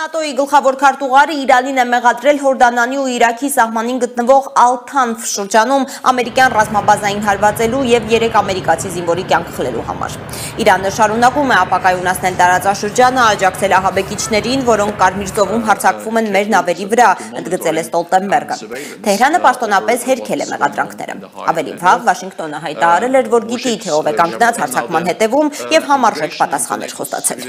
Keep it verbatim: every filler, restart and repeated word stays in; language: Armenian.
ՆԱՏՕ-ի գլխավոր քարտուղարը Իրանին է մեղադրել Հորդանանի ու Իրաքի սահմանին գտնվող Ալ-Թանֆ շրջանում ամերիկյան ռազմաբազային հարվածելու եւ երեք ամերիկացի զինվորի կյանք խլելու համար։ Իրանը շարունակում է ապակայունացնել տարածաշրջանը, աջակցել ահաբեկիչներին, որոնք Կարմիր ծովում հարձակվում են մեր նավերի վրա, ընդգծել է Ստոլտենբերգը։ Թեհրանը պաշտոնապես հերքել է մեղադրանքները։ Ավելի վաղ Վաշինգտոնը հայտարարել էր, որ գիտի, թե ով է կանգնած հարձակման հետևում եւ համարժեք պատասխաններ խոստացել։